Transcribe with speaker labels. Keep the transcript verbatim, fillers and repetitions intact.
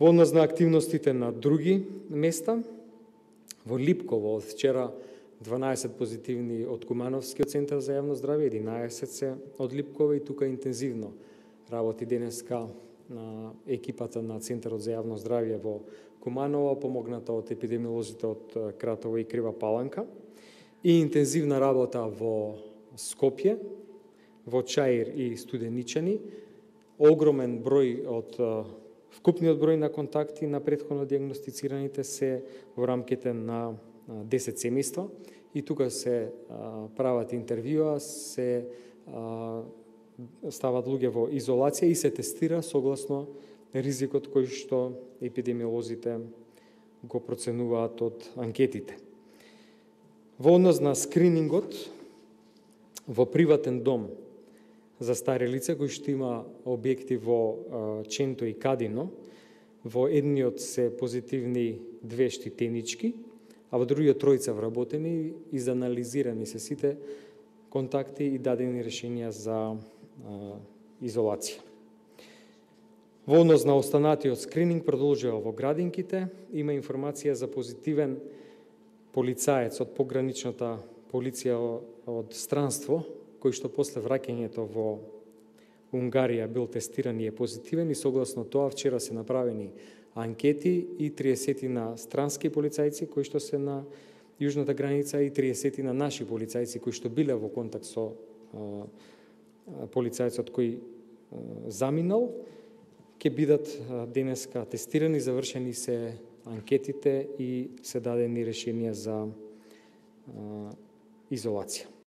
Speaker 1: Во однос на активностите на други места, во Липково од вчера дванаесет позитивни од Кумановскиот центар за јавно здравје, единаесет се од Липково, и тука интензивно работи денеска на екипата на Центарот за јавно здравје во Куманово, помогната од епидемиолозите од Кратово и Крива Паланка, и интензивна работа во Скопје, во Чаир и Студеничани, огромен број од вкупниот број на контакти на претходно диагностицираните се во рамките на десет семејства, и тука се а, прават интервјуа, се а, стават луѓе во изолација и се тестира согласно ризикот кој што епидемиолозите го проценуваат од анкетите. Во однос на скринингот, во приватен дом за стари лица кој што има објекти во Ченто и Кадино, во едниот се позитивни две штитенички, а во другиот тројца вработени, изанализирани се сите контакти и дадени решенија за а, изолација. Во однос на останатиот скрининг продолжува во Градинките, има информација за позитивен полицаец од пограничната полиција од странство, кој што после враќањето во Унгарија бил тестиран и е позитивен, и согласно тоа вчера се направени анкети и триесет на странски полицајци кои што се на јужната граница и триесет на наши полицајци кои што биле во контакт со а, полицајцот кој а, заминал, ќе бидат а, денеска тестирани, завршени се анкетите и се дадени решенија за а, изолација.